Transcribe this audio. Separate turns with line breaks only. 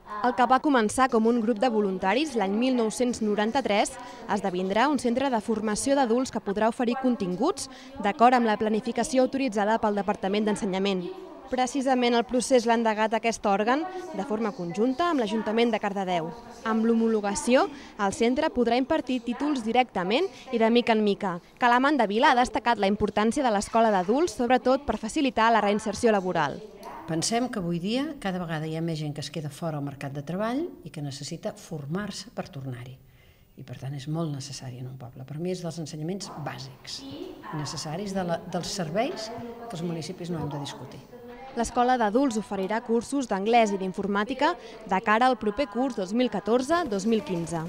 El que va començar com un grup de voluntaris l'any 1993 esdevindrà un centre de formació d'adults que podrà oferir continguts d'acord amb la planificació autoritzada pel Departament d'Ensenyament. Precisament el procés l'ha endegat aquest òrgan de forma conjunta amb l'Ajuntament de Cardedeu. Amb l'homologació, el centre podrà impartir títols directament i de mica en mica. Calamant de Vila ha destacat la importància de l'escola d'adults, sobretot per facilitar la reinserció laboral.
Pensem que avui dia cada vegada hi ha més gent que es queda fora al mercat de treball i que necessita formar-se per tornar-hi. I per tant és molt necessari en un poble. Per mi és dels ensenyaments bàsics, necessaris dels serveis que els municipis no hem de discutir.
L'escola d'adults oferirà cursos d'anglès i d'informàtica de cara al proper curs 2014-2015.